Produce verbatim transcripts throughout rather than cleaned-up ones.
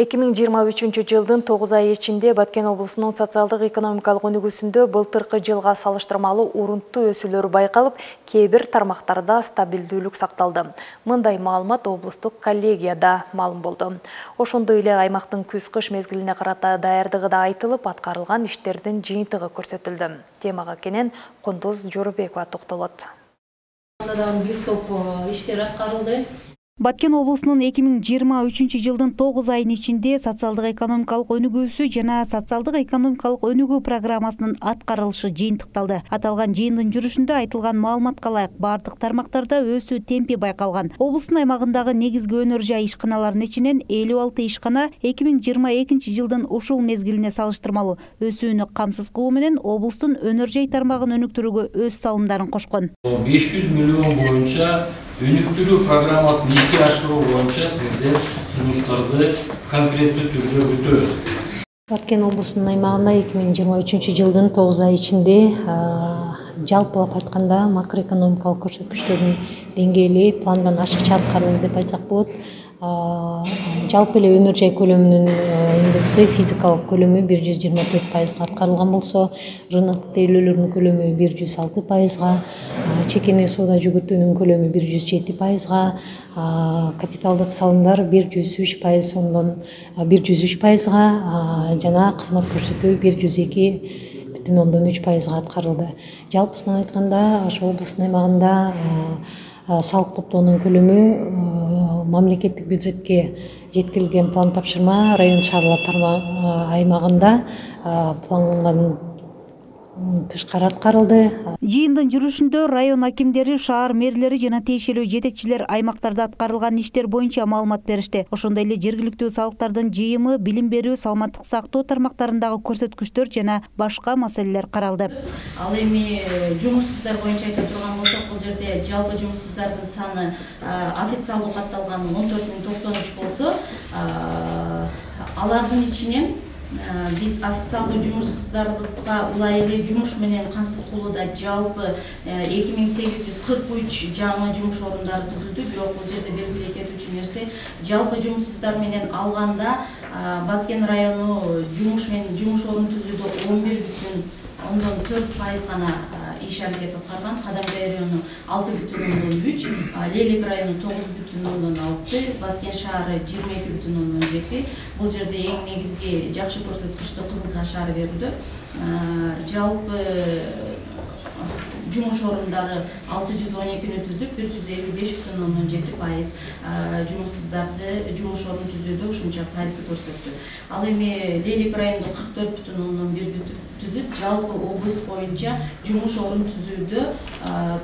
эки миң жыйырма үчүнчү жылдын тогуз айы ичинде Баткен облусунун социалдык экономикалык өнүгүүсүндө былтыркы жылга салыштырмалуу урунттуу өсүүлөр байкалып, кээ бир тармактарда стабилдүүлүк сакталды. Мындай маалымат облустук коллегияда маалым болду. Ошондой эле аймактын күз-кыш мезгилине карата даярдыгы да айтылып, аткарылган иштердин жыйынтыгы көрсөтүлдү. Темага кенен Кондоз Жоробекова токтолот. Бир топ иштер аткарылды. Баткен облусунун эки миң жыйырма үчүнчү жылдын тогуз айынын ичинде социалдык экономикалык өнүгүүсү жана социалдык экономикалык өнүгүү программасынын аткарылышы жыйынтыкталды. Аталган жыйындын жүрүшүндө айтылган маалыматка ылайык бардык тармактарда өсүү темпи байкалган. Облустун аймагындагы негизги өнөр жай ишканаларынын ичинен элүү алты ишкана эки миң жыйырма экинчи жылдын ушул мезгилине салыштырмалуу өсүүнү камсыз кылуу менен облустун өнөр жай тармагын өнүктүрүүгө өз салымдарын кошкон. беш жүз миллион боюнча өнүктүрүү программасын ишке ашыруу боюнча сиздер сунуштарды конкреттүү түрдө өтөбүз. Баткен облусунун аймагында эки миң жыйырма үчүнчү жылдын тогуз айы ичинде жалпылап айтканда макроэкономикалык көрсөткүчтөрдүн деңгээли пландан ашыкча аткарылды деп айтсак болот. Жалпы эле өнөр жай көлөмүнүн индекси физикалык көлөмү бир жүз жыйырма төрт пайызга аткарылган болсо, рынок тейлөөлөрүнүн көлөмү бир жүз алты пайызга, чекене соода жүгүртүүнүн көлөмү бир жүз жети пайызга, капиталдык салымдар бир жүз үч пайыз ондон бир жүз үч пайызга жана кызмат көрсөтүү бир жүз эки бүтүн ондон үч пайызга аткарылды. Жалпысынан айтканда, ошо облустун аймагында салык топтоонун көлөмү мамлекеттик бюджетке жеткирилген план тапшырма район шаарлар аймагында плангандан тышкары аткарылды. Жыйындын жүрүшүндө район акимдери, шаар мэрлери жана тиешелүү жетекчилер аймактарда аткарылган иштер боюнча маалымат беришти. Ошондой эле жергиликтүү салыктардын жыйымы, билим берүү, саламаттык сактоо тармактарындагы көрсөткүчтөр жана башка маселелер каралды. Ал эми жумушсуздар боюнча айта турган болсок, бул жерде жалпы жумушсуздардын саны официалдуу катталган он төрт миң токсон үч болсо, алардын ичинен биз официалдуу жумушсуздарга улай эле жумуш менен камсыз кылууда жалпы эки миң сегиз жүз кырк үч жаңы жумуш орундары түзүлдү. Бирок бул жерде белгилей кетүүчү нерсе, жалпы жумушсуздар менен алганда Баткен району жумуш менен жумуш орун түзүүдө он бир бүтүн ондон төрт пайыз гана иш аракет аткарган. Кадамжай району алты бүтүн ондон үч, Лейлик району тогуз бүтүн ондон алты, Баткен шаары жыйырма эки бүтүн ондон жети. Бул жерде эң негизги жакшы көрсөткүчтү Кызыл Таш шаары берүүдө. Жалпы жумуш орундары алты жүз он экини түзүп, бир жүз элүү беш бүтүн ондон жети пайыз жумушсуздарды жумуш орун түзүүдө ушунча пайызды көрсөттү. Ал эми Лейлик районунда кырк төрт бүтүн ондон бирди түзүп, жалпы облус боюнча жумуш орун түзүүдө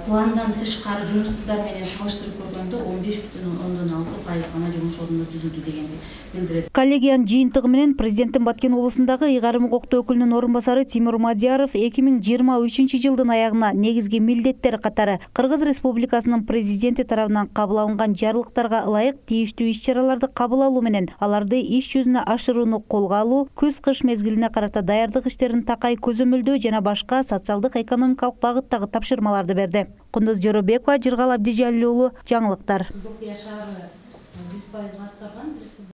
пландан тышкары жумушсуздар менен салыштырып көргөндө он беш бүтүн ондон алты пайыз гана жумуш орунду түзүлдү дегенди билдирет. Коллегиянын жыйынтыгы менен президенттин Баткен облусундагы ыйгарым укуктуу өкүлүнүн орун басары Тимур Мадияров эки миң жыйырма үчүнчү жылдын аягына негизги милдеттер катары Кыргыз Республикасынын президенти тарабынан кабыл алынган жарлыктарга ылайык тийиштүү иш-чараларды кабыл алуу менен аларды иш жүзүнө ашырууну колго алуу, күз-кыш мезгилине карата даярдык иштерин такай көзөмөлдөө жана башка социалдык экономикалык багыттагы тапшырмаларды берди. Кондоз Жоробекова, Жыргал Абдижалил уулу, жаңылыктар.